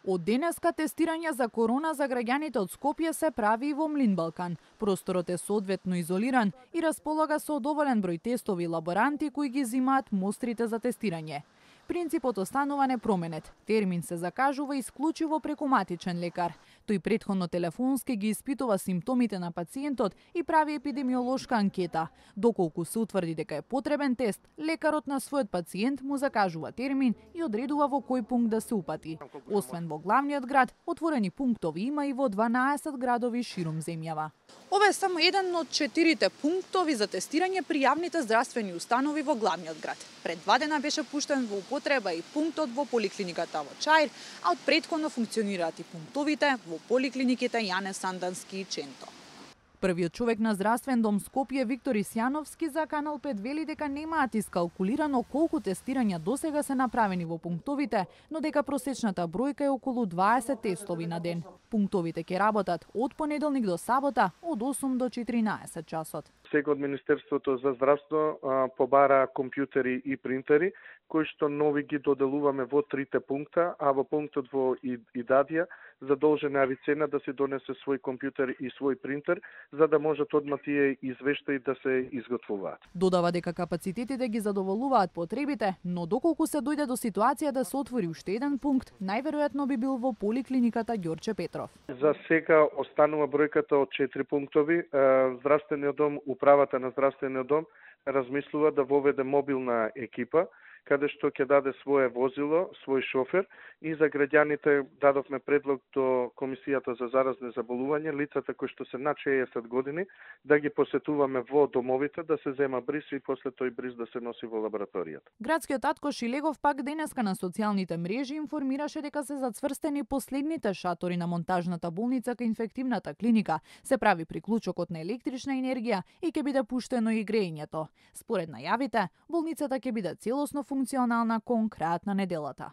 Од денеска тестирање за корона за граѓаните од Скопје се прави и во Млин Балкан. Просторот е соодветно изолиран и располага со доволен број тестови лаборанти кои ги зимаат мострите за тестирање. Принципот останува непроменет. Термин се закажува исклучиво преку матичен лекар. Тој претходно телефонски ги испитува симптомите на пациентот и прави епидемиолошка анкета. Доколку се утврди дека е потребен тест, лекарот на својот пациент му закажува термин и одредува во кој пункт да се упати. Освен во главниот град, отворени пунктови има и во 12 градови ширум земјава. Ова е само еден од 4 пунктови за тестирање при јавните здравствени установи во главниот град. Пред 2 дена беше пуштен во употреба и пунктот во поликлиниката во Чаир, а од претходно функционираат и пунктовите во поликлиниките Јане Сандански и Ченто. Првиот човек на здравствен дом Скопје, Виктор Исјановски, за Канал 5 вели дека немаат искалкулирано колку тестирања досега се направени во пунктовите, но дека просечната бројка е околу 20 тестови на ден. Пунктовите ќе работат од понеделник до сабота од 8 до 14 часот. Сега од Министерството за здравство побара компјутери и принтери, кои што нови ги доделуваме во 3 пункта, а во пунктот во Идадија задолжена лицена да се донесе свој компјутер и свој принтер, за да можат одма тие извештаи да се изготвуваат. Додава дека капацитетите ги задоволуваат потребите, но доколку се дојде до ситуација да се отвори уште еден пункт, најверојатно би бил во поликлиниката Ѓорче Петров. За сега останува бројката од 4 пунктови. Здравствениот дом, управата на здравствениот дом размислува да воведе мобилна екипа, каде што ќе даде свое возило, свој шофер, и за граѓаните дадовме предлог до Комисијата за заразни заболувања, лицата кои што се над 60 години, да ги посетуваме во домовите, да се зема бриз и после тој бриз да се носи во лабораторијата. Градскиот татко Шилегов пак денеска на социјалните мрежи информираше дека се зацврстени последните шатори на монтажната болница кај инфективната клиника, се прави приклучокот на електрична енергија и ќе биде пуштено и грејењето. Според најавите, болницата ќе биде целосно функционална кон крајот на неделата.